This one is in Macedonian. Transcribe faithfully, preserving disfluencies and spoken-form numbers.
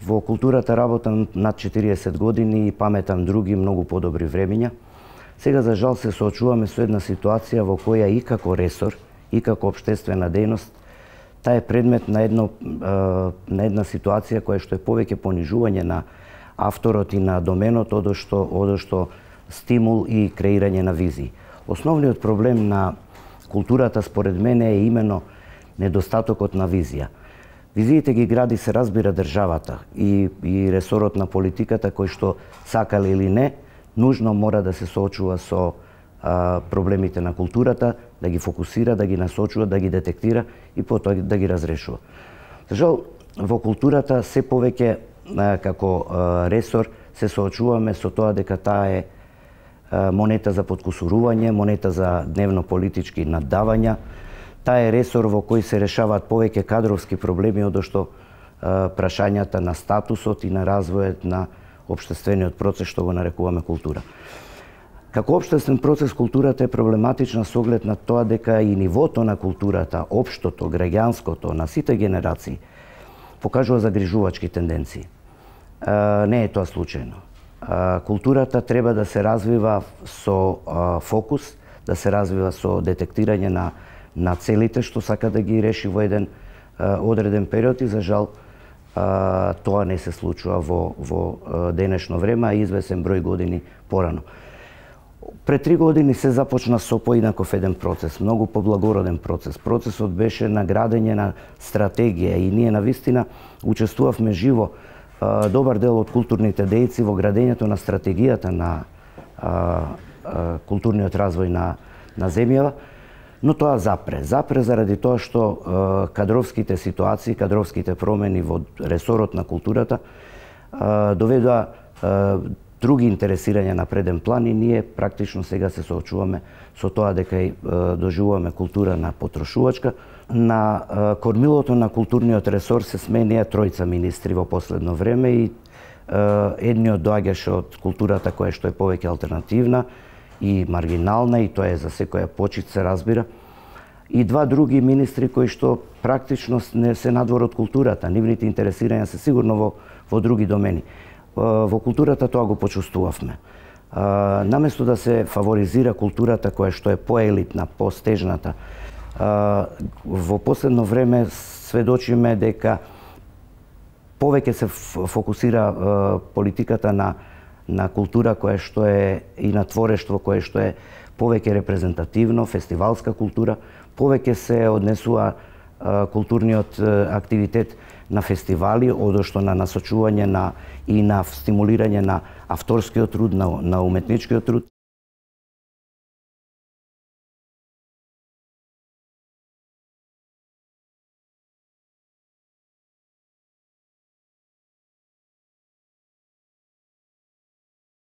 Во културата работам над четириесет години и паметам други многу подобри времиња. Сега за жал се соочуваме со една ситуација во која и како ресор, и како општествена дејност, таа е предмет на едно на една ситуација која што е повеќе понижување на авторот и на доменот, одошто одошто стимул и креирање на визии. Основниот проблем на културата според мене е имено недостатокот на визија. Визиите ги гради, се разбира, државата и, и ресорот на политиката, кој што сакале или не, нужно мора да се соочува со а, проблемите на културата, да ги фокусира, да ги насочува, да ги детектира и потоа да ги разрешува. За жал, во културата се повеќе а, како а, ресор се соочуваме со тоа дека таа е а, монета за подкусурување, монета за дневно-политички наддавања. Таа е ресор во кој се решаваат повеќе кадровски проблеми, одошто прашањата на статусот и на развојот на општествениот процес, што го нарекуваме култура. Како општествен процес, културата е проблематична со оглед на тоа дека и нивото на културата, општото, граѓанското, на сите генерации, покажува загрижувачки тенденции. Не е тоа случајно. Културата треба да се развива со фокус, да се развива со детектирање на на целите што сака да ги реши во еден а, одреден период и за жал а, тоа не се случува во, во а, денешно време, а извесен број години порано. Пред три години се започна со поинаков еден процес, многу поблагороден процес. Процесот беше на градење на стратегија и ние навистина учествувавме живо а, добар дел од културните дејци во градењето на стратегијата на а, а, културниот развој на, на земјава. Но тоа запре. Запре заради тоа што е, кадровските ситуации, кадровските промени во ресорот на културата е, доведоа е, други интересирања на преден план и ние практично сега се соочуваме со тоа дека е, доживуваме култура на потрошувачка. На е, кормилото на културниот ресор се сменија тројца министри во последно време и е, едниот доаѓаше од културата која што е повеќе алтернативна и маргинална, и тоа е за секоја почит, се разбира, и два други министри кои што практично не се надвор од културата, нивните интересирања се сигурно во, во други домени. Во културата тоа го почувствувавме. Наместо да се фаворизира културата која што е поелитна, постежната, во последно време сведочиме дека повеќе се фокусира политиката на на култура која што е и на творештво кое што е повеќе репрезентативно, фестивалска култура, повеќе се однесува а, културниот а, активитет на фестивали, одошто на насочување на и на стимулирање на авторскиот труд, на, на уметничкиот труд.